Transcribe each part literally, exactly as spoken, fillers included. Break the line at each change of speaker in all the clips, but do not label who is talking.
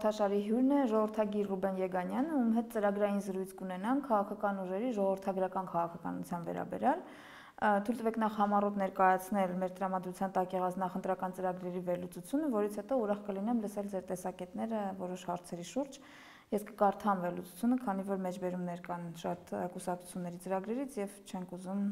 հաղորդաշարի հյուրն է ժողովրդագիր Ռուբեն Եգանյանը, ում հետ ծրագրային զրույց կունենանք քաղաքական ուժերի ժողովրդագրական քաղաքականության վերաբերյալ։ Թույլ տվեք նախ համառոտ ներկայացնել մեր տրամադրության տակ եղած նախընտրական ծրագրերի վերլուծությունը, որից հետո ուրախ կլինեմ լսել ձեր տեսակետները որոշ հարցերի շուրջ։ Ես կկարդամ վերլուծությունը, քանի որ մեջբերումներ կան շատ կուսակցությունների ծրագրերից եւ չենք ուզում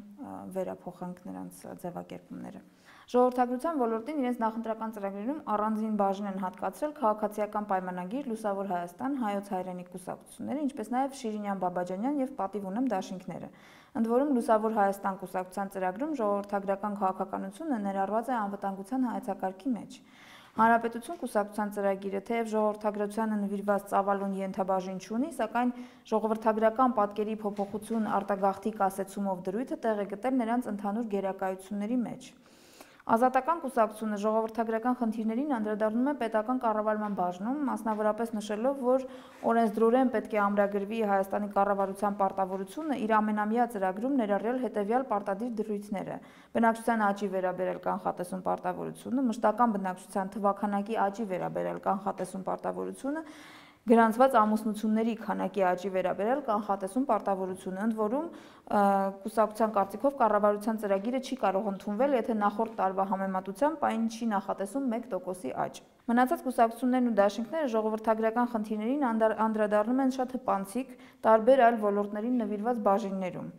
վերափոխենք նրանց ձևակերպումները։ Ժողովրդագրության ոլորտին իրենց նախընտրական ծրագրերում առանձին բաժին են հատկացրել քաղաքացիական պայմանագիր, Լուսավոր Հայաստան, Հայոց հայրենիք կուսակցությունները, ինչպես նաև Շիրինյան Բաբաջանյան եւ Պատիվ ունեմ դաշինքները։ Ընդ որում Լուսավոր Հայաստան կուսակցության ծրագրում ժողովրդագրական քաղաքականությունը ներառված է անվտանգության հայեցակարգի մեջ։ Հանրապետություն կուսակցության ծրագիրը թեև ժողովրդագրությանը նվիրված ծավալուն ենթաբաժին չունի, սակայն ժողովրդագրական պատկերի փոփոխություն արտագաղթի կասեցումով դրույթը տեղ է գտել նրանց ընդհանուր գերակայությունների մեջ։ Ազատական կուսակցությունը ժողովրդագրական խնդիրներին անդրադառնում է պետական կառավարման բաժնում, մասնավորապես նշելով, որ օրենսդրորեն պետք է ամրագրվի Հայաստանի կառավարության պարտավորությունը իր ամենամյա ծրագրում ներառյալ հետևյալ պարտադիր դրույթները՝ բնակչության աճի վերաբերյալ կանխատեսում պարտավորությունը, մշտական բնակչության թվաքանակի աճի վերաբերյալ կանխատեսում պարտավորությունը, գրանցված ամուսնությունների քանակի աճի վերաբերյալ կանխատեսում պարտավորությունը, ընդ որում կուսակցության կարծիքով կառավարության ծրագիրը չի կարող ընդունվել, եթե նախորդ տարվա համեմատությամբ այն չի նախատեսում մեկ տոկոսի աճ։ Մնացած կուսակցություններն ու դաշինքները ժողովրդագրական խնդիրներին անդրադառնում են շատ հպանցիկ, տարբեր այլ ոլորտներին նվիրված բաժիններում։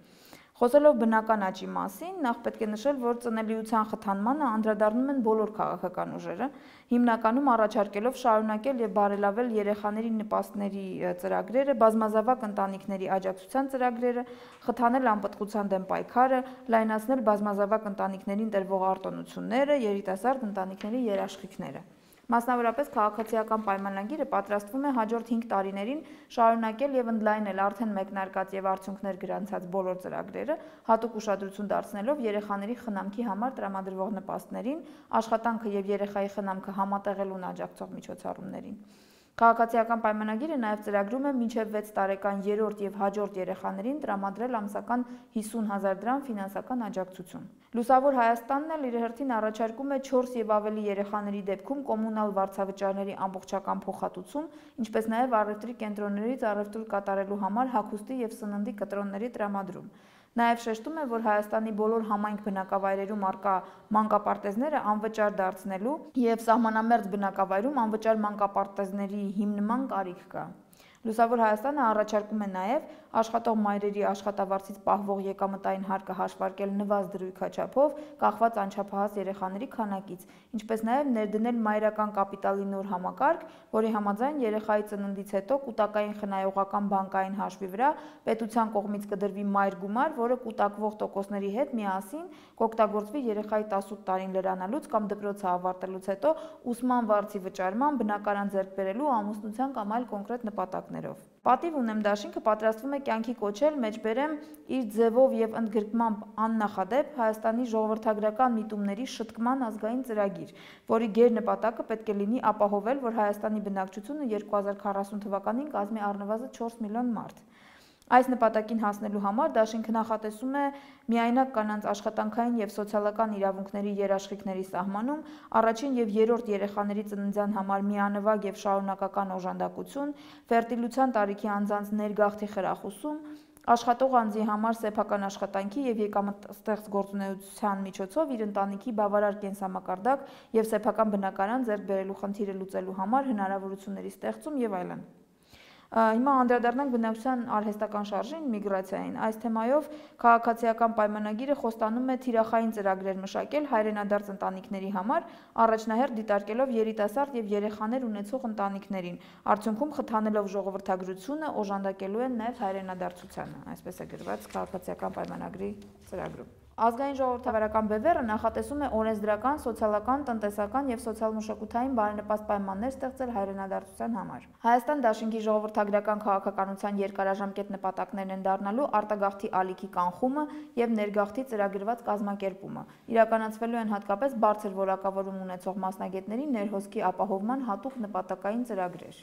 Խոսելով բնական աճի մասին, նախ պետք է նշել, որ ծնելիության խթանմանը անդրադառնում են բոլոր քաղաքական ուժերը, հիմնականում առաջարկելով շարունակել եւ բարելավել երեխաների նպաստների ծրագրերը, բազմազավակ ընտանիքների աջակցության ծրագրերը, խթանել անպտղության դեմ պայքարը, լայնացնել բազմազավակ ընտանիքներին տրվող արտոնությունները, երիտասարդ ընտանիքների երաշխիքները։ Մասնավորապես քաղաքացիական պայմանագիրը պատրաստվում է հաջորդ հինգ տարիներին շարունակել եւ ընդլայնել արդեն մեկնարկած եւ արդյունքներ գրանցած բոլոր ծրագրերը, հատուկ ուշադրություն դարձնելով երեխաների խնամքի համար տրամադրվող նպաստներին, աշխատանքը եւ երեխայի խնամքը համատեղելուն աջակցող միջոցառումներին։ Քաղաքացիական պայմանագիրը նաև ծրագրում է մինչև վեց տարեկան երրորդ եւ հաջորդ երեխաներին տրամադրել ամսական հիսուն հազար դրամ ֆինանսական աջակցություն։ Լուսավոր Հայաստանն էլ իր հերթին առաջարկում է չորս եւ ավելի երեխաների դեպքում կոմունալ վարձավճարների ամբողջական փոխհատուցում, ինչպես նաև առևտրի կենտրոններից առևտուր կատարելու համար հագուստի եւ սննդի կտրոնների տրամադրում։ Նաև շեշտում է, որ Հայաստանի բոլոր համայնք բնակավայրերում առկա մանկապարտեզները անվճար դարձնելու եւ սահմանամերձ բնակավայրում անվճար մանկապարտեզների հիմնման կարիք կա։ Լուսավոր Հայաստանը առաջարկում է նաև աշխատող մայրերի աշխատավարձից պահվող եկամտային հարկը հաշվարկել նվազ դրույքաչափով, կախված անչափահաս երեխաների քանակից, ինչպես նաև ներդնել մայրական կապիտալի նոր համակարգ, որի համաձայն երեխայի ծննդից հետո կուտակային խնայողական բանկային հաշվի վրա պետության կողմից կդրվի մայր գումար, որը կուտակվող տոկոսների հետ միասին կօգտագործվի երեխայի տասութ տարին լրանալուց կամ դպրոցը ավարտելուց հետո ուսման վարձի վճարման, բնակարան ձեռք բերելու, ամուսնության կամ այլ կոնկրետ նպատակներով։ Պատիվ ունեմ դաշինքը պատրաստվում է կյանքի կոչել մեջբերեմ իր ձևով եւ ընդգրկմամբ աննախադեպ Հայաստանի ժողովրդագրական միտումների շտկման ազգային ծրագիր, որի գերնպատակը պետք է լինի ապահովել, որ Հայաստանի բնակչությունը երկու հազար քառասուն թվականին կազմի առնվազն չորս միլիոն մարդ։ Այս նպատակին հասնելու համար դաշինքը նախատեսում է միայնակ կանանց աշխատանքային եւ սոցիալական իրավունքների երաշխիքների սահմանում, առաջին եւ երրորդ երեխաների ծննդյան համար միանվագ եւ շարունակական օժանդակություն, ֆերտիլության տարիքի անձանց ներգաղթի խրախուսում, աշխատող անձի համար սեփական աշխատանքի եւ եկամտստեղծ գործունեության միջոցով իր ընտանիքի բավարար կենսամակարդակ եւ սեփական բնակարան ձեռք բերելու խնդիրը լուծելու համար հնարավորությունների ստեղծում եւ այլն։ Հիմա անդրադառնանք բնակչության արհեստական շարժին, միգրացիային։ Այս թեմայով քաղաքացիական պայմանագիրը խոստանում է թիրախային ծրագրեր մշակել հայրենադարձ ընտանիքների համար, առաջնահերթ դիտարկելով երիտասարդ եւ երեխաներ ունեցող ընտանիքներին, արդյունքում խթանելով ժողովրդագրությունը, օժանդակելու են նաեւ հայրենադարձությանը, այսպես է գրված քաղաքացիական պայմանագրի ծրագրում։ Ազգային ժողովրդավարական բևեռը նախատեսում է օրենսդրական, սոցիալական, տնտեսական եւ սոցիալ-մշակութային բարենպաստ պայմաններ ստեղծել հայրենադարձության համար։ Հայաստան դաշինքի ժողովրդագրական քաղաքականության երկարաժամկետ նպատակներն են դառնալու արտագաղթի ալիքի կանխումը եւ ներգաղթի ծրագրված կազմակերպումը։ Իրականացվելու են հատկապես բարձր որակավորում ունեցող մասնագետների ներհոսքի ապահովման հատուկ նպատակային ծրագրեր։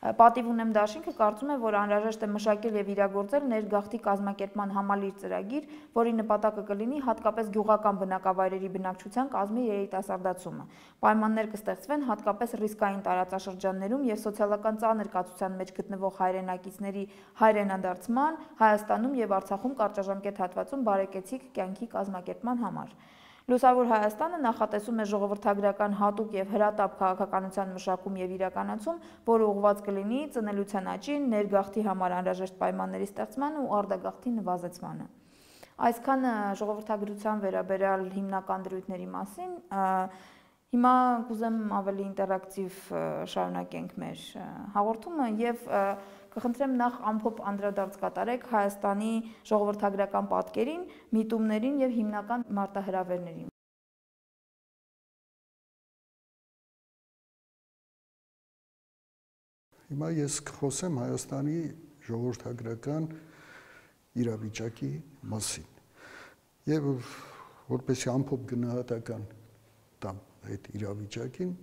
Պատիվ ունեմ դաշինքը կարծում է, որ անհրաժեշտ է մշակել եւ իրագործել ներգաղթի կազմակերպման համալիր ծրագիր, որի նպատակը կլինի հատկապես գյուղական բնակավայրերի բնակչության կազմի երիտասարդացումը։ Պայմաններ կստեղծվեն հատկապես ռիսկային տարածաշրջաններում եւ սոցիալական ծանր կացության մեջ գտնվող հայրենակիցների հայրենադարձման, Հայաստանում եւ Արցախում կարճաժամկետ հատվածում բարեկեցիկ կյանքի կազմակերպման համար։ Լուսավոր Հայաստանը նախատեսում է ժողովրդագրական հատուկ եւ հրատապ քաղաքականության մշակում եւ իրականացում, որը ուղղված կլինի ծնելիության աճին, ներգաղթի համար անհրաժեշտ պայմանների ստեղծմանը ու արտագաղթի նվազեցմանը։ Այսքան ժողովրդագրության վերաբերյալ հիմնական դրույթների մասին, հիմա կուզեմ ավելի ինտերակտիվ շարունակենք մեր հաղորդումը եւ կխնդրեմ նախ ամփոփ անդրադարձ կատարեք Հայաստանի ժողովրդագրական պատկերին, միտումներին եւ հիմնական մարտահրավերներին։
Հիմա ես կխոսեմ Հայաստանի ժողովրդագրական իրավիճակի մասին եւ որպես ամփոփ գնահատական տամ այդ իրավիճակին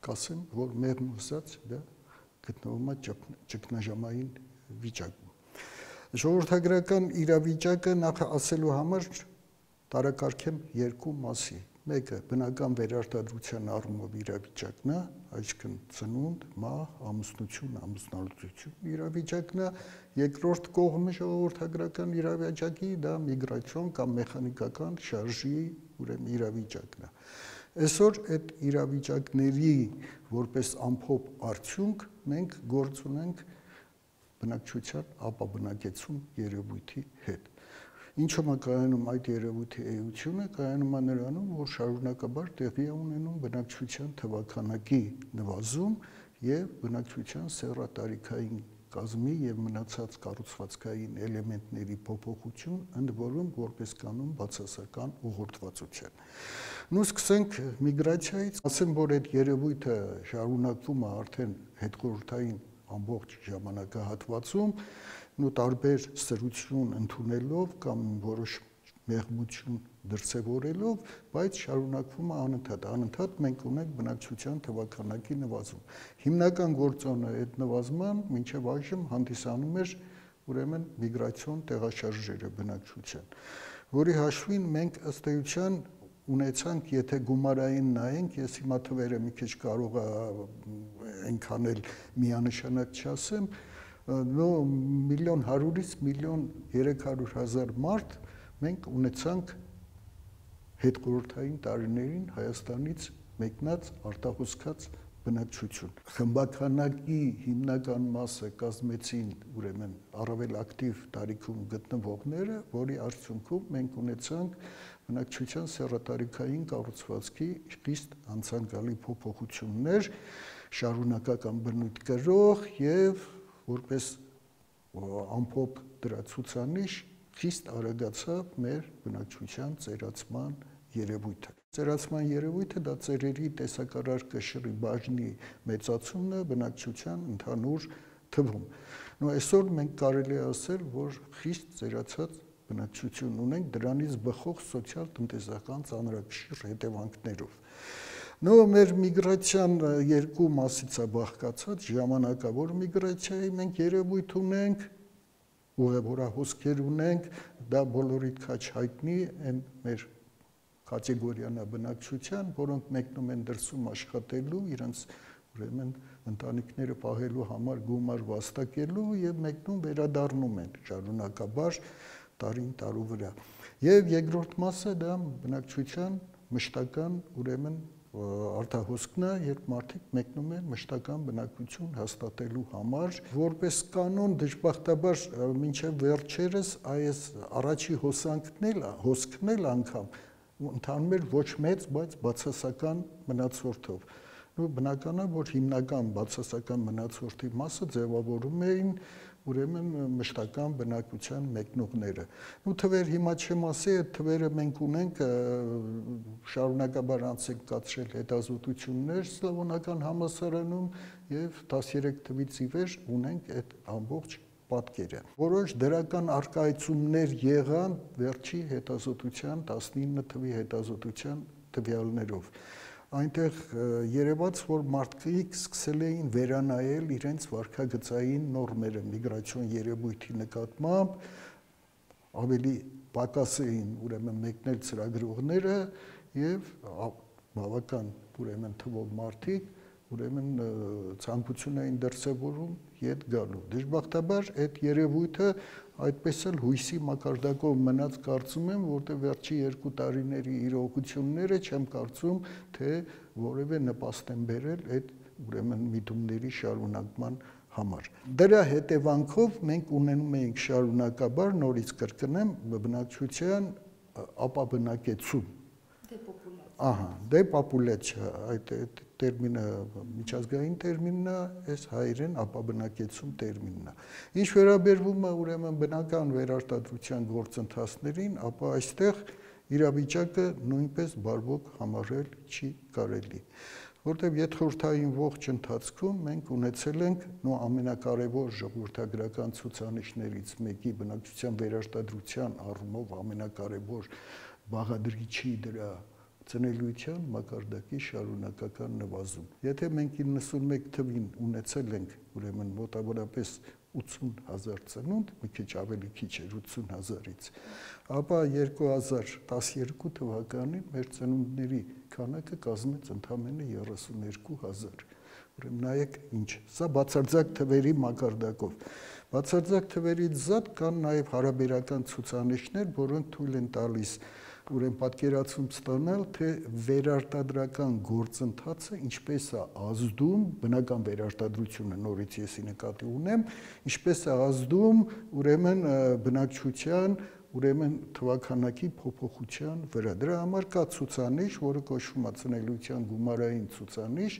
կասեմ, որ մեղմ ասած դա գտնվում է ճգնաժամային վիճակում։ Ժողովրդագրական իրավիճակը նախ ասելու համար տարակարգեմ երկու մասի։ Մեկը բնական վերարտադրության առումով իրավիճակն է, այսինքն ծնունդ, մահ, ամուսնություն, ամուսնալուծություն իրավիճակն է, երկրորդ կողմը ժողովրդագրական իրավիճակի դա միգրացիոն կամ մեխանիկական շարժի ուրեմն իրավիճակն է։ Այսօր այդ իրավիճակների որպես ամփոփ արդյունք մենք գործ ունենք բնակչության ապաբնակեցում երևույթի հետ։ Ինչու՞ է կայանում այդ երևույթի էությունը, կայանում է նրանում, որ շարունակաբար տեղի է ունենում բնակչության թվաքանակի նվազում եւ բնակչության սեռատարիքային կազմի եւ մնացած կառուցվածքային էլեմենտների փոփոխություն, ընդ որում որպես կանոն բացասական ուղղորդվածության։ Նու սկսենք միգրացիայից, ասեմ, որ այդ երևույթը շարունակվում է արդեն հետխորհրդային ամբողջ ժամանակահատվածում, ու տարբեր սրություն ընդունելով կամ որոշ մեղմություն դրսևորելով, բայց շարունակվում է անընդհատ, անընդհատ մենք ունենք բնակչության թվաքանակի նվազում։ Հիմնական գործոնը այդ նվազման մինչև այժմ հանդիսանում էր ուրեմն միգրացիոն տեղաշարժերը բնակչության, որի հաշվին մենք ըստ էության ունեցանք, եթե գումարային նայենք, ես հիմա թվերը մի քիչ կարող է այնքան էլ միանշանակ չասեմ, նո միլիոն հարյուրից միլիոն երեք հարյուր հազար մարդ մենք ունեցանք հետխորհրդային տարիներին Հայաստանից մեկնած արտահոսքած բնակչություն։ Խմբականակի հիմնական մասը կազմեցին ուրեմն առավել ակտիվ տարիքում գտնվողները, որի արդյունքում մենք ունեցանք բնակչության սեռատարիքային կառուցվածքի խիստ անցանկալի փոփոխություններ, շարունակական բնույթ կրող եւ որպես ամփոփ դրա ցուցանիշ խիստ արագացավ մեր բնակչության ծերացման երևույթը։ Ծերացման երևույթը դա ծերերի տեսակարար կշռի բաժնի մեծացումն է բնակչության ընդհանուր թվում։ Ու այսօր մենք կարելի է ասել, որ խիստ ծերացած բնակչություն ունենք դրանից բխող սոցիալ-տնտեսական ծանրակշիռ հետևանքներով։ Նո մեր միգրացիան երկու մասից է բաղկացած, ժամանակավոր միգրացիայի մենք երևույթ ունենք, ուղևորահոսքեր ունենք, դա բոլորիդ քաչ հայտնի են մեր կատեգորիանա բնակչության, որոնք մեկնում են դրսում աշխատելու, իրենց ուրեմն ընտանիքները պահելու համար գումար վաստակելու եւ մեկնում վերադառնում են շարունակաբար տարին տարու վրա։ Եվ երկրորդ մասը դա բնակչության մշտական ուրեմն արտահոսքն է, երբ մարդիկ մեկնում են մշտական բնակություն հաստատելու համար, որպես կանոն դժբախտաբար մինչև վերջերս այս առաջի հոսանքն էլ, հոսքն էլ անգամ ընթանում էր ոչ մեծ, բայց բացասական մնացորդով։ Ու բնական է, որ հիմնական բացասական մնացորդի մասը ձևավորում էին ուրեմն մշտական բնակության մեկնողները։ Ու թվեր հիմա չեմ ասի, այդ թվերը մենք ունենք շարունակաբար անց ենք կացրել հետազոտություններ Սլավոնական համալսարանում եւ տասներեք թվից ի վեր ունենք այդ ամբողջ պատկերը։ Որոշ դրական արկայացումներ եղան վերջի հետազոտության տասնինը թվի հետազոտության տվյալներով։ այնտեղ երևաց, որ մարդիկ սկսել էին վերանայել իրենց վարքագծային նորմերը միգրացիոն երևույթի նկատմամբ, ավելի պակաս էին ուրեմն մեկնել ծրագրողները եւ բավական ուրեմն թվով մարդիկ ուրեմն ցանկություն էին դրսևորում ետ գալու։ Դժբախտաբար այդ երևույթը այդպես էլ հույսի մակարդակով մնաց, կարծում եմ, որտեղ վերջի երկու տարիների իրողությունները չեմ կարծում, թե որևէ նպաստ են բերել այդ ուրեմն միտումների շարունակման համար։ Դրա հետևանքով մենք ունենում էինք շարունակաբար, նորից կրկնեմ, բնակչության ապաբնակեցում։ Ահա, դեպոպուլյացիա, այդ տերմինը միջազգային տերմինն է, այս հայերեն ապաբնակեցում տերմինն է։ Ինչ վերաբերվում է ուրեմն բնական վերարտադրության գործընթացներին, ապա այստեղ իրավիճակը նույնպես բարվոք համարել չի կարելի, որտեղ յետխորհրդային ողջ ընթացքում մենք ունեցել ենք նո ամենակարևոր ժողովրդագրական ցուցանիշներից մեկի բնակչության վերարտադրության առումով ամենակարևոր բաղադրիչի դրա ծնելիության մակարդակի շարունակական նվազում։ Եթե մենք իննսունմեկ թվին ունեցել ենք ուրեմն մոտավորապես ութսուն հազար ծնունդ, մի քիչ ավելի քիչ էր ութսուն հազարից, ապա երկու հազար տասներկու թվականին մեր ծնունդների քանակը կազմեց ընդամենը երեսուներկու հազար։ Ուրեմն նայեք ինչ, սա բացարձակ թվերի մակարդակով։ Բացարձակ թվերից զատ կան նաև հարաբերական ցուցանիշներ, որոնք թույլ են տալիս ուրեմն պատկերացում ստանալ, թե վերարտադրական գործընթացը ինչպես է ազդում, բնական վերարտադրությունը նորից եսի նկատի ունեմ, ինչպես է ազդում ուրեմն բնակչության ուրեմն թվաքանակի փոփոխության վրա։ Դրա համար կա ցուցանիշ, որը կոչվում է ծնելիության գումարային ցուցանիշ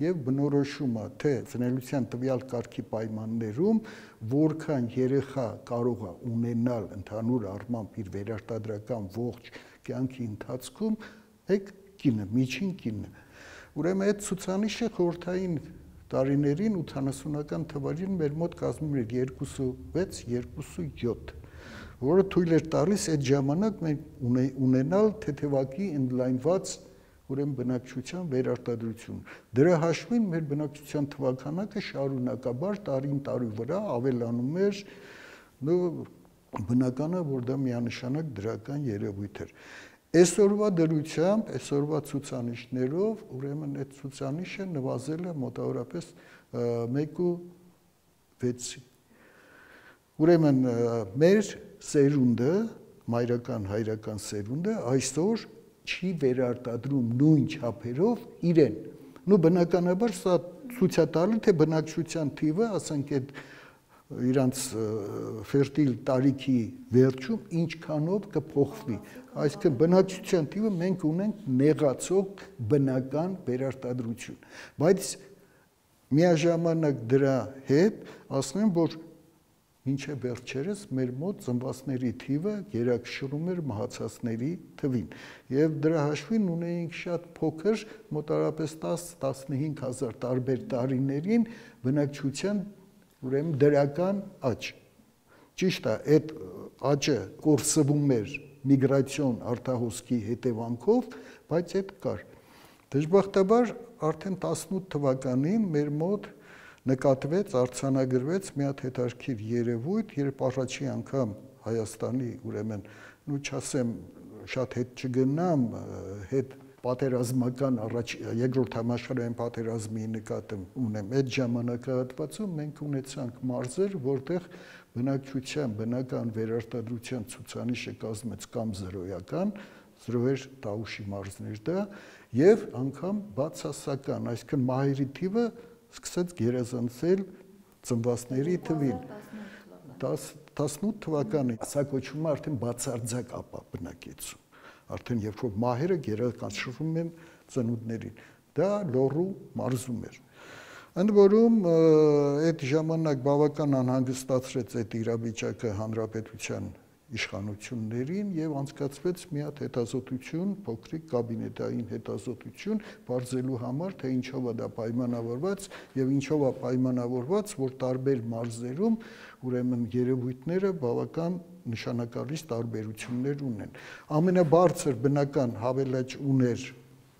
եւ բնորոշում է, թե ծնելիության տվյալ կարգի պայմաններում որքան երեխա կարող է ունենալ ընդհանուր առմամբ իր վերարտադրական ողջ կյանքի ընթացքում այդ կինը, միջին կինը։ Ուրեմն այդ ցուցանիշը խորհրդային տարիներին ութանասունական թվերին մեր մոտ կազմում էր երկուսուվեց երկուսույոթ, որը թույլ էր տալիս այդ ժամանակ մենք ունենալ թեթևակի ընդլայնված ուրեմն բնակչության վերարտադրություն։ Դրա հաշվին մեր բնակչության թվաքանակը շարունակաբար տարին տարի վրա ավելանում էր, բնական է, որ դա միանշանակ դրական երևույթ էր։ Այսօրվա դրությամբ, այսօրվա ցուցանիշներով, ուրեմն այդ ցուցանիշը նվազել է մոտավորապես մեկ ու վեցի։ Ուրեմն մեր սերունդը, մայրական հայրական սերունդը այսօր չի վերարտադրում նույն չափերով իրեն։ Նու բնականաբար սա ցույց է տալի, թե բնակչության թիվը, ասենք այդ իրանց ֆերտիլ տարիքի վերջում ինչքանով կփոխվի։ Այսինքն բնակչության թիվը մենք ունենք նեղացող բնական վերարտադրություն։ Բայց միաժամանակ դրա հետ ասում եմ, որ մինչև վերջերս մեր մոտ ծնվածների թիվը գերակշռում էր մահացածների թվին։ Եվ դրա հաշվին ունեինք շատ փոքր, մոտավորապես տասը-տասնհինգ հազար տարբեր տարիներին բնակչության ուրեմն դրական աճ։ Ճիշտ է, այդ աճը կորսվում էր միգրացիոն արտահոսքի հետևանքով, բայց այդ կար։ Դժբախտաբար արդեն տասնութ թվականին մեր մոտ նկատվեց, արձանագրվեց մի հատ հետաքրքիր երևույթ, երբ առաջի անգամ Հայաստանի ուրեմն, ու չասեմ շատ հետ չգնամ, հետ պատերազմական առաջ երկրորդ համաշխարհային պատերազմի նկատում ունեմ, այդ ժամանակահատվածում մենք ունեցանք մարզեր, որտեղ բնակչության բնական վերարտադրության ցուցանիշը կազմեց կամ զրոյական, զրո էր Տաուշի մարզներ դա, եւ անգամ բացասական, այսինքն մահերի թիվը սկսեց գերազանցել ծնվածների թվին։ տասնութ թվականին սա կոչվում է արդեն բացարձակ ապաբնակեցում։ Արդեն երբ որ մահերը գերակշռում են ծնունդներին, դա լոռու մարզում էր։ Ընդ որում այդ ժամանակ բավական անհանգստացրեց այդ իրավիճակը հանրապետության իշխանություններին եւ անցկացվեց մի հատ հետազոտություն, փոքրիկ կաբինետային հետազոտություն, բարձելու համար, թե ինչով է դա պայմանավորված եւ ինչով է պայմանավորված, որ տարբեր մարզերում ուրեմն երևույթները բավական նշանակալից տարբերություններ ունեն։ Ամենաբարձր բնական հավելաճ ուներ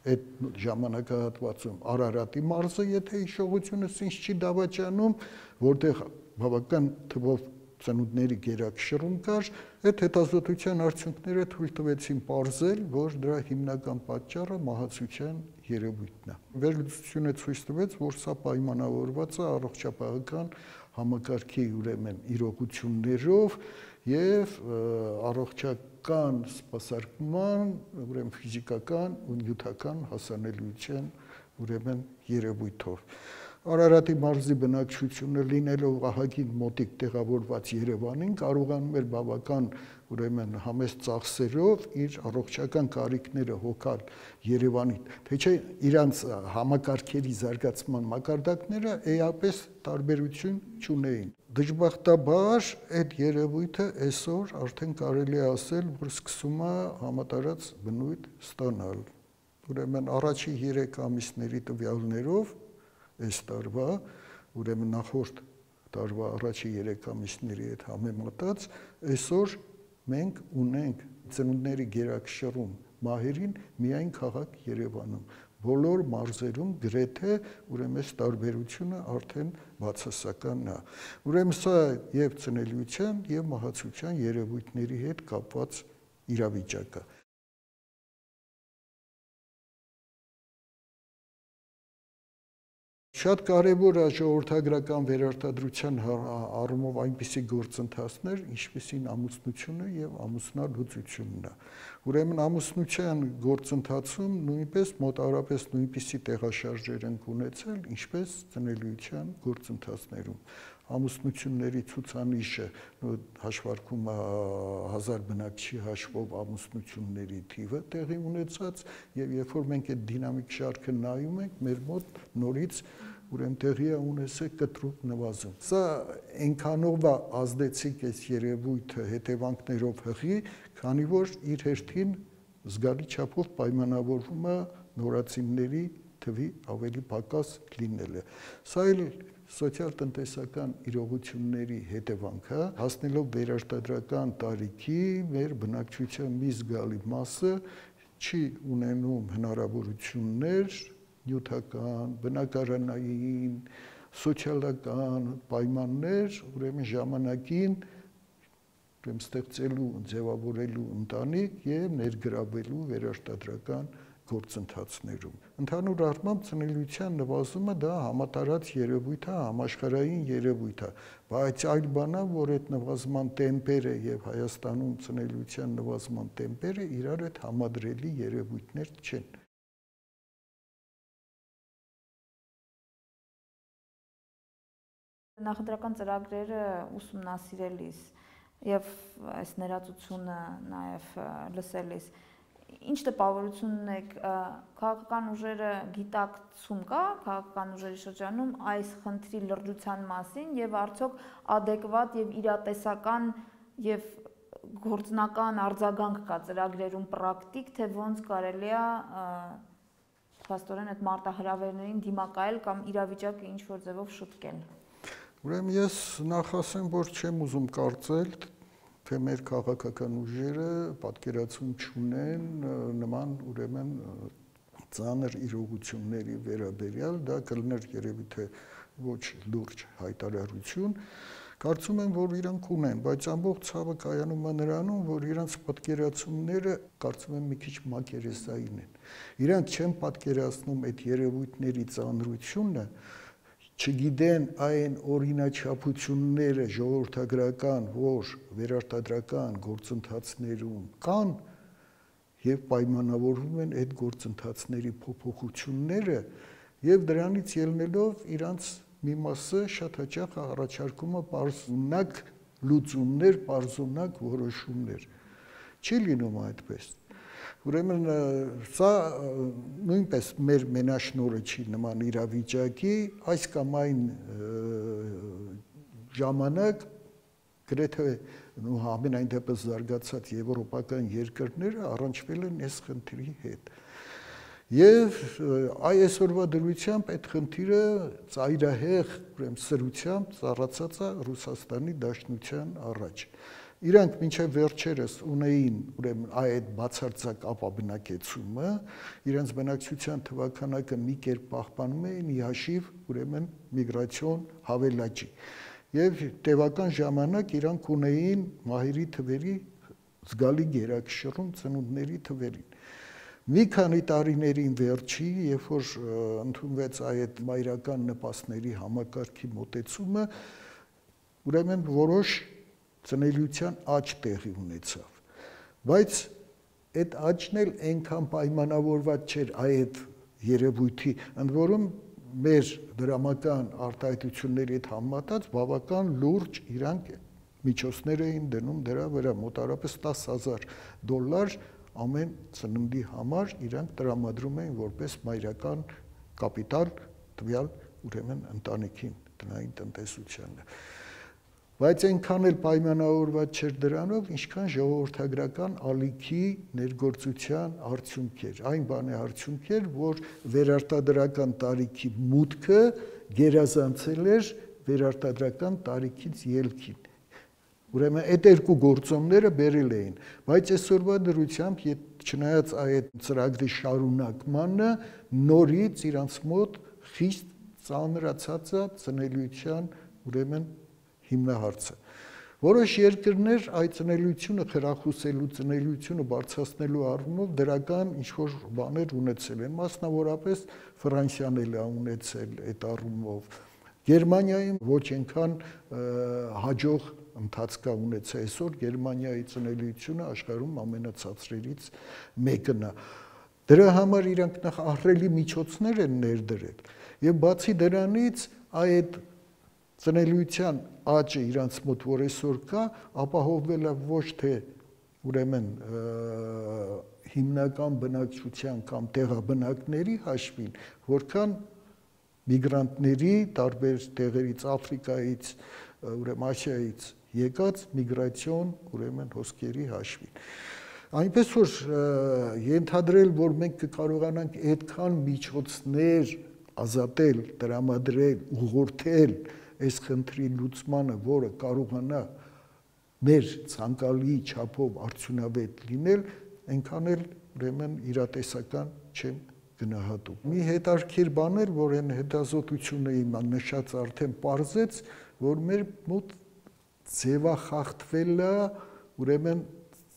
այդ ժամանակահատվածում Արարատի մարզը, եթե հիշողությունս ինձ չի դավաճանում, որտեղ բավական թվով ծնունդների գերակշռում կար, այդ հետազոտության արդյունքները թույլ տվեցին պարզել, որ դրա հիմնական պատճառը մահացության երևույթն է։ Վերլուծությունը ցույց տվեց, որ սա պայմանավորված է առողջապահական համակարգի ուրեմն իրողություններով եւ առողջական սպասարկման, ուրեմն ֆիզիկական ու նյութական հասանելիության ուրեմն երևույթով։ Արարատի մարզի բնակչությունը լինելով ահագին մոտիկ տեղավորված Երևանին կարողանում էր բավական ուրեմն համեստ ծախսերով իր առողջական կարիքները հոգալ Երևանին, թե չէ իրանց համակարգերի զարգացման մակարդակները էապես տարբերություն չունեին։ Դժբախտաբար այդ երևույթը այսօր արդեն կարելի է ասել, որ սկսում է համատարած բնույթ ստանալ։ Ուրեմն առաջի երեք ամիսների տվյալներով այս տարվա, ուրեմն նախորդ տարվա առաջի երեք ամիսների հետ համեմատած, այսօր մենք ունենք ծնունդների գերակշռում մահերին միայն քաղաք Երևանում։ Բոլոր մարզերում գրեթե ուրեմն այս տարբերությունը արդեն բացասական է։ Ուրեմն սա եւ ծնելիության եւ մահացության երևույթների հետ կապված իրավիճակ է։ Շատ կարևոր է ժողովրդագրական վերարտադրության առումով այնպիսի գործընթացներ, ինչպիսին ամուսնությունը եւ ամուսնալուծությունն է։ Ուրեմն ամուսնության գործընթացում նույնպես մոտավորապես նույնպիսի տեղաշարժեր են ունեցել, ինչպես ծնելիության գործընթացներում։ Ամուսնությունների ցուցանիշը հաշվարկում է հազար բնակչի հաշվով ամուսնությունների թիվը տեղի ունեցած եւ երբ որ մենք այդ դինամիկ շարքը նայում ենք, մեր մոտ նորից ուրեմն տեղի է ունեցել կտրուկ նվազում։ Սա այնքանով է ազդեցիկ այս երևույթը հետևանքներով հղի, քանի որ իր հերթին զգալի չափով պայմանավորվում է նորածինների թվի ավելի պակաս լինելը։ Սա էլ սոցիալ-տնտեսական իրողությունների հետևանք է, հասնելով վերարտադրական տարիքի, մեր բնակչության մի զգալի մասը չի ունենում հնարավորություններ նյութական, բնակարանային, սոցիալական պայմաններ, ուրեմն ժամանակին ուրեմն ստեղծելու, ձևավորելու ընտանիք եւ ներգրավելու վերարտադրական գործընթացներում։ Ընդհանուր առմամբ ծնելիության նվազումը դա համատարած երևույթ է, համաշխարհային երևույթ է, բայց այլ բան է, որ այդ նվազման տեմպերը եւ Հայաստանում ծնելիության նվազման տեմպերը իրար հետ համադրելի երևույթներ չեն։
Նախընտրական ծրագրերը ուսումնասիրելիս եւ այս ներածությունը նաեւ լսելիս ինչ տպավորություն ունեք, քաղաքական ուժերը գիտակցում կա քաղաքական ուժերի շրջանում այս խնդրի լրջության մասին եւ արդյոք adekvat եւ իրատեսական եւ գործնական արձագանք կա ծրագրերում պրակտիկ, թե ոնց կարելի է փաստորեն այդ մարտահրավերներին դիմակայել կամ իրավիճակը ինչ որ ձևով շտկել։
Ուրեմն ես նախ ասեմ, որ չեմ ուզում կարծել, թե մեր քաղաքական ուժերը պատկերացում չունեն նման ուրեմն ծանր իրողությունների վերաբերյալ, դա կլներ երևի թե ոչ լուրջ հայտարարություն, կարծում եմ, որ իրանք ունեն, բայց ամբողջ ցավը կայանում է նրանում, որ իրանք պատկերացումները կարծում եմ մի քիչ մակերեսային են։ Իրանք չեն պատկերացնում այդ երևույթների ծանրությունը, չգիտեն այն օրինաչափությունները ժողովրդագրական, որ վերարտադրական գործընթացներում կան եւ պայմանավորվում են այդ գործընթացների փոփոխությունները եւ դրանից ելնելով իրանց մի մասը շատ հաճախ առաջարկում է բարձունակ լուծումներ, բարձունակ որոշումներ։ Չի լինում այդպես։ Ուրեմն սա նույնպես մեր մենաշնորհը չի նման իրավիճակի, այս կամ այն ժամանակ գրեթե ամենայն դեպս զարգացած եվրոպական երկրները առնչվել են այս խնդրի հետ։ Եվ այսօրվա դրությամբ այդ խնդիրը ծայրահեղ ուրեմն սրությամբ ծառացած է Ռուսաստանի Դաշնության առաջ։ Իրանք մինչև վերջերս ունեին ուրեմն այդ բացարձակ ապաբնակեցումը, իրենց բնակչության թվականակը մի կերպ պահպանում էին ի հաշիվ ուրեմն միգրացիոն հավելաճի։ Եվ տևական ժամանակ իրանք ունեին մահերի թվերի զգալի գերակշռում ծնունդների թվերին։ Մի քանի տարիներին վերջի, երբ որ ընդունվեց այդ մայրական նպաստների համակարգի մոտեցումը, ուրեմն որոշ ծնելիության աճ տեղի ունեցավ, բայց այդ աճն էլ այնքան պայմանավորված չէր այդ երևույթի, ընդ որում մեր դրամական արտահայտությունների հետ համեմատած բավական լուրջ իրանք միջոցներ էին դնում դրա վրա, մոտավորապես տասը հազար դոլար ամեն ծննդի համար իրանք տրամադրում էին որպես մայրական կապիտալ տվյալ ուրեմն ընտանիքին, տնային տնտեսությանը։ Բայց այնքան էլ պայմանավորված չէր դրանով, ինչքան ժողովրդագրական ալիքի ներգործության արդյունք էր։ Այն բանի արդյունք էր, որ վերարտադրական տարիքի մուտքը գերազանցել էր վերարտադրական տարիքից ելքին։ Ուրեմն այդ երկու գործոնները բերել էին, բայց այսօրվա դրությամբ, չնայած այդ ծրագրի շարունակմանը, նորից իրանց մոտ խիստ ծանրացած է ծնելիության ուրեմն հիմնահարցը։ Որոշ երկրներ այդ ծնելիությունը խրախուսելու, ծնելիությունը բարձրացնելու առումով դրական ինչ-որ բաներ ունեցել են, մասնավորապես Ֆրանսիան էլ է ունեցել այդ առումով։ Գերմանիայում ոչ այնքան հաջող ընթացք է ունեցել, այսօր Գերմանիայի ծնելիությունը աշխարհում ամենացածրերից մեկն է։ Դրա համար իրանք նախ ահռելի միջոցներ են ներդրել, եւ բացի դրանից այդ ծնելիության աճը իրանց մոտ որ այսօր կա, ապահովվել է ոչ թե ուրեմն հիմնական բնակչության կամ տեղաբնակների հաշվին, որքան միգրանտների տարբեր տեղերից, Աֆրիկայից, ուրեմն Ասիայից եկած միգրացիոն ուրեմն հոսքերի հաշվին։ Այնպես որ ենթադրել, որ մենք կկարողանանք այդքան միջոցներ ազատել, տրամադրել, ուղղորդել այս խնդրի լուծմանը, որը կարողանա մեր ցանկալի չափով արդյունավետ լինել, այնքան էլ ուրեմն իրատեսական չեմ գնահատում։ Մի հետաքրքիր բան էր, որ այն հետազոտությունը իմ նշած արդեն պարզեց, որ մեր մոտ ձևախախտվել է ուրեմն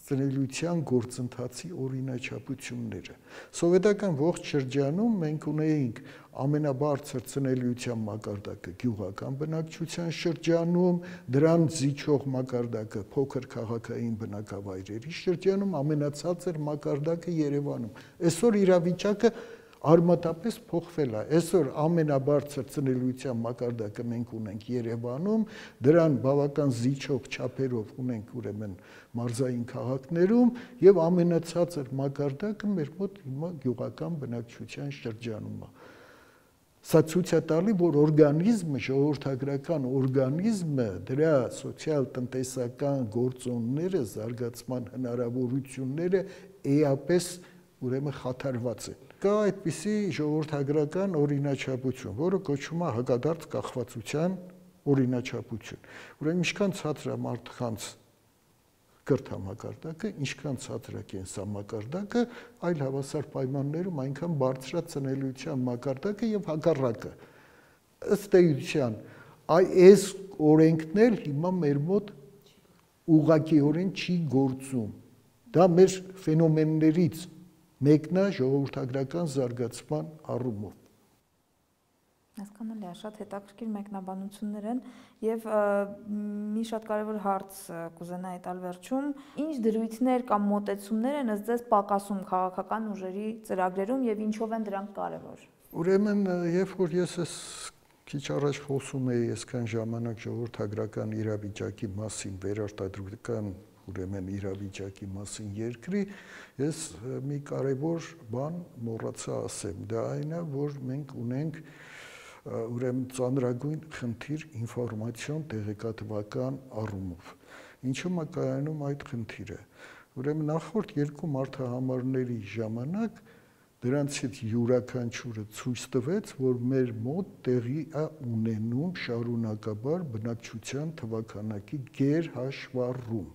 ծնելիության գործընթացի օրինաչափությունները։ Սովետական ողջ շրջանում մենք ունեինք ամենաբարձր ծնելիության մակարդակը գյուղական բնակչության շրջանում, դրան զիջող մակարդակը փոքր քաղաքային բնակավայրերի շրջանում, ամենացածր մակարդակը Երևանում։ Այսօր իրավիճակը արմատապես փոխվել է։ Այսօր ամենաբարձր ծնելիության մակարդակը մենք ունենք Երևանում, դրան բավական զիջող չափերով ունենք ուրեմն մարզային քաղաքներում եւ ամենացածր մակարդակը մեր մոտ հիմա գյուղական բնակչության շրջանում է։ Սա ցույց է տալի, որ օրգանիզմը, ժողովրդագրական օրգանիզմը, դրա սոցիալ-տնտեսական գործոնները, զարգացման հնարավորությունները էապես ուրեմն խաթարված են։ Կա այդպիսի ժողովրդագրական օրինաչափություն, որը կոչվում է հակադարձ կախվածության օրինաչափություն։ Ուրեմն ինչքան ցածր է մարդկանց կրթամակարդակը, ինչքան ցածր է կենսամակարդակը, այլ հավասար պայմաններում այնքան բարձր է ծնելիության մակարդակը եւ հակառակը։ Ըստ էության, այս օրենքն էլ հիմա մեր մոտ ուղղակիորեն չի գործում։ Դա մեր ֆենոմեններից մեկն է ժողովրդագրական զարգացման առումով։
Հասկանալի է, շատ հետաքրքիր մեկնաբանություններ են եւ մի շատ կարեւոր հարց կուզենայի տալ վերջում, ինչ դրույթներ կամ մոտեցումներ են ըստ ձեզ պակասում քաղաքական ուժերի ծրագրերում եւ ինչով են դրանք կարեւոր։
Ուրեմն, երբ որ ես ես քիչ առաջ խոսում էի այսքան ժամանակ ժողովրդագրական իրավիճակի մասին, վերարտադրական ուրեմն իրավիճակի մասին երկրի, ես մի կարևոր բան մոռացա ասեմ, դա այն է, որ մենք ունենք ուրեմն ծանրագույն խնդիր ինֆորմացիոն տեղեկատվական առումով։ Ինչու՞մ է կայանում այդ խնդիրը։ Ուրեմն նախորդ երկու մարտահամարների ժամանակ դրանցից յուրաքանչյուրը ցույց տվեց, որ մեր մոտ տեղի է ունենում շարունակաբար բնակչության թվաքանակի գերհաշվառում։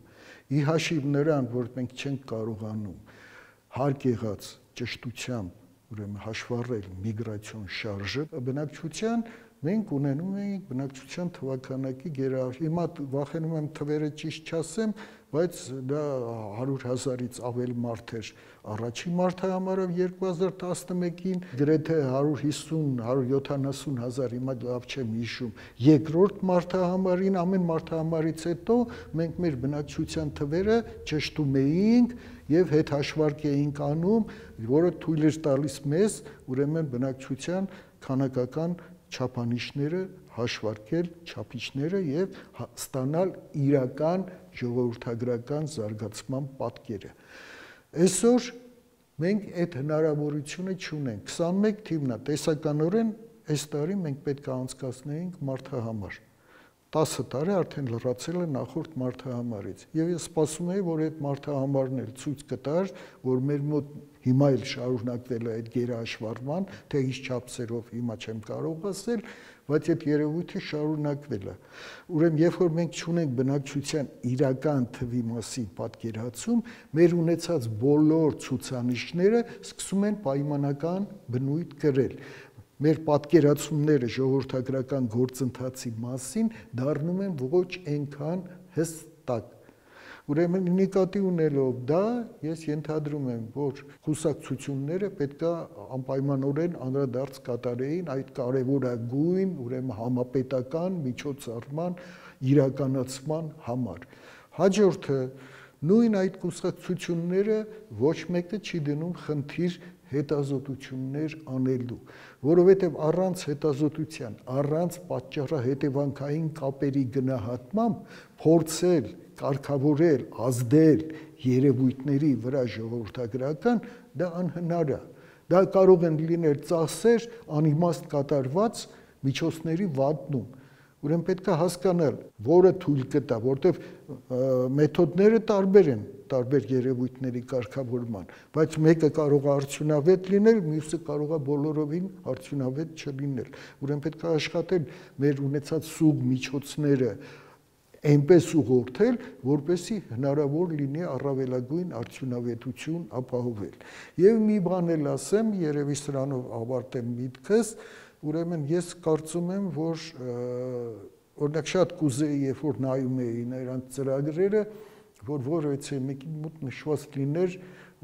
ի հաշիվ նրան, որ մենք չենք կարողանում հարկ եղած ճշտությամբ ուրեմն հաշվառել միգրացիոն շարժը, բնակչության մենք ունենում ենք բնակչության թվականակի գերահավաք։ Հիմա վախենում եմ թվերը ճիշտ չասեմ, բայց դա հարյուր հազարից ավել մարդ էր առաջին մարդահամարով երկու հազար տասնմեկին, գրեթե հարյուր հիսուն հարյուր յոթանասուն հազար, հիմա լավ չեմ հիշում, երկրորդ մարդահամարին, ամեն մարդահամարից հետո մենք մեր բնակչության թվերը ճշտում էինք եւ հետ հաշվարկ էինք անում, որը թույլ էր տալիս մեզ ուրեմն բնակչության քանակական չափանիշները հաշվարկել, չափիչները եւ ստանալ իրական ժողովրդագրական զարգացման պատկերը։ Այսօր մենք այդ հնարավորությունը չունենք։ քսանմեկ թիվն է, տեսականորեն այս տարի մենք պետք է անցկացնեինք մարդահամար։ տասը տարի արդեն լրացել է նախորդ մարդահամարից։ Եվ ես սպասում եի, որ այդ մարդահամարն էլ ցույց կտար, որ մեր մոտ հիմա էլ շարունակվել է այդ գերհաշվառման, թե ինչ չափսերով հիմա չեմ կարող ասել, բայց այդ երևույթը շարունակվել է։ Ուրեմն, երբ որ մենք չունենք բնակչության իրական թվի մասին պատկերացում, մեր ունեցած բոլոր ցուցանիշները սկսում են պայմանական բնույթ կրել։ Մեր պատկերացումները ժողովրդագրական գործընթացի մասին դառնում են ոչ այնքան հստակ։ Ուրեմն նկատի ունելով դա, ես ենթադրում եմ, որ կուսակցությունները պետք է անպայմանորեն անդրադարձ կատարեին այդ կարևորագույն, ուրեմն համապետական միջոցառման իրականացման համար։ Հաջորդը նույն այդ կուսակցությունները ոչ մեկը չի դնում խնդիր հետազոտություններ անելու, որովհետև առանց հետազոտության, առանց պատճառահետևանքային կապերի գնահատմամբ փորձել, կարգավորել, ազդել երևույթների վրա ժողովրդագրական, դա անհնար է։ Դա կարող են լինել ծախսեր, անիմաստ կատարված միջոցների վատնում։ Ուրեմն պետք է հասկանալ, որը թույլ կտա, որտեղ մեթոդները տարբեր են, տարբեր երևույթների կարգավորման, բայց մեկը կարող է արդյունավետ լինել, մյուսը կարող է բոլորովին արդյունավետ չլինել։ Ուրեմն պետք է աշխատել մեր ունեցած սուղ միջոցները այնպես ուղղորդել, որպեսզի հնարավոր լինի առավելագույն արդյունավետություն ապահովել։ Եվ մի բան էլ ասեմ, երևի սրանով ավարտեմ միտքս, ուրեմն ես կարծում եմ, որ օրինակ շատ կուզեի, երբ որ նայում էի նրանց ծրագրերը, որ որևէ մեկի մոտ նշված լիներ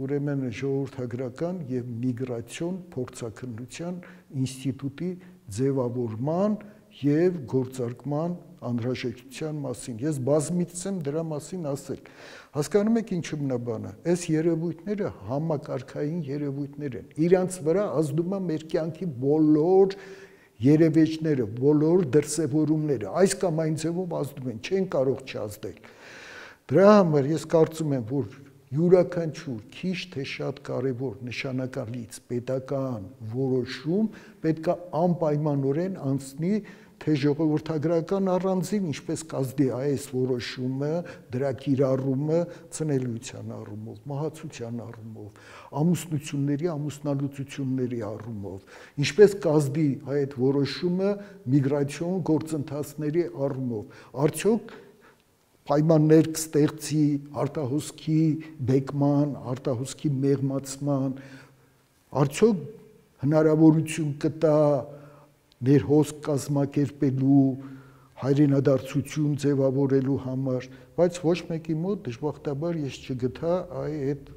ուրեմն ժողովրդագրական եւ միգրացիոն փորձաքննության ինստիտուտի ձևավորման եւ գործարկման անհրաժեշտության մասին։ Ես բազմիցս եմ դրա մասին ասել։ Հասկանում եք ինչու բնաբանը։ Այս երևույթները համակարգային երևույթներ են։ Իրանց վրա ազդում է մեր կյանքի բոլոր երևեջները, բոլոր դրսևորումները, այս կամ այն ձևով ազդում են, չեն կարող չազդել։ Դրա համար ես կարծում եմ, որ յուրաքանչյուր քիչ թե շատ կարևոր նշանակալից պետական որոշում պետք է անպայմանորեն անցնի թե ժողովրդագրական առանձին, ինչպես կազդի այս որոշումը, դրա կիրառումը ծնելիության առումով, մահացության առումով, ամուսնությունների, ամուսնալուծությունների առումով, ինչպես կազդի այդ որոշումը միգրացիոն գործընթացների առումով, արդյոք պայմաններ կստեղծի արտահոսքի բեկման, արտահոսքի մեղմացման, արդյոք հնարավորություն կտա ներհոսք կազմակերպելու, հայրենադարձություն ձևավորելու համար, բայց ոչ մեկի մոտ դժբախտաբար ես չգտա այդ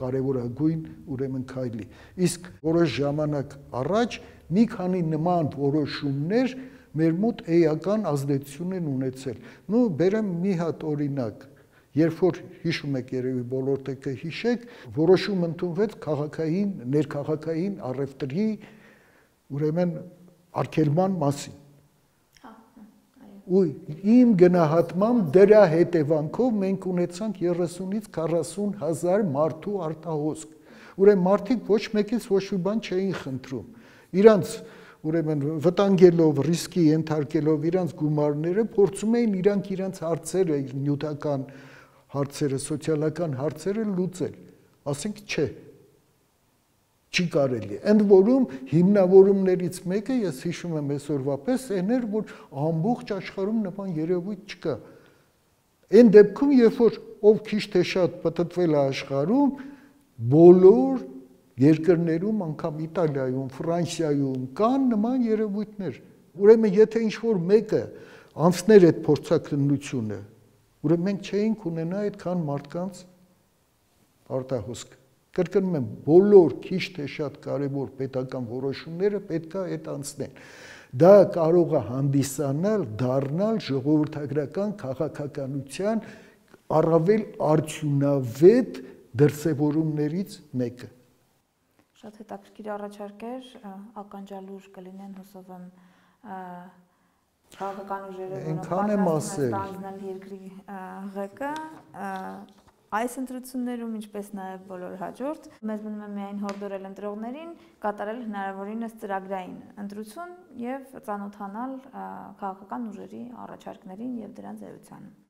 կարևորագույն ուրեմն քայլի։ Իսկ որոշ ժամանակ առաջ մի քանի նման որոշումներ մեր մոտ էական ազդեցություն են ունեցել։ Նու բերեմ մի հատ օրինակ, երբ որ հիշում եք երևի բոլոր տեկը հիշեք, որոշում ընդունվեց քաղաքային, ներքաղաքային առևտրի ուրեմն արգելման մասին։ Ու իմ գնահատմամբ դրա հետևանքով մենք ունեցանք երեսունից քառասուն հազար մարդու արտահոսք։ Ուրեմն մարդիկ ոչ մեկից ոչ մի բան չէին խնդրում։ Իրանց ուրեմն վտանգելով, ռիսկի ենթարկելով իրանց գումարները, փորձում էին իրանք իրանց հարցերը, նյութական հարցերը, սոցիալական հարցերը լուծել։ Ասենք չէ։ Չի կարելի։ Ընդ որում հիմնավորումներից մեկը, ես հիշում եմ այսօրվա պես, այն էր, որ ամբողջ աշխարհում նման երևույթ չկա։ Այն դեպքում, երբ որ ով քիչ թե շատ պտտվել է աշխարհում, բոլոր երկրներում, անգամ Իտալիայում, Ֆրանսիայում կան նման երևույթներ։ Ուրեմն, եթե ինչ-որ մեկը անցներ այդ փորձաքննությունը, ուրեմն մենք չէինք ունենա այդքան մարդկանց արտահոսք։ Կրկնում եմ, բոլոր քիչ թե շատ կարևոր պետական որոշումները պետք է այդ անցնեն։ Դա կարող է հանդիսանալ, դառնալ ժողովրդագրական քաղաքականության առավել արդյունավետ դրսևորումներից մեկը։
Շատ հետաքրքիր առաջարկ էր, ականջալուր կլինեն, հուսով եմ, քաղաքական ուժերը, որոնք պատրաստվում են երկրի ղեկը, այս ընտրություններում, ինչպես նաև բոլոր հաջորդ, մեզ մնում է միայն հորդորել ընտրողներին կատարել հնարավորինս ծրագրային ընտրություն և ծանոթանալ քաղաքական ուժերի առաջարկներին և դրանց էությանը։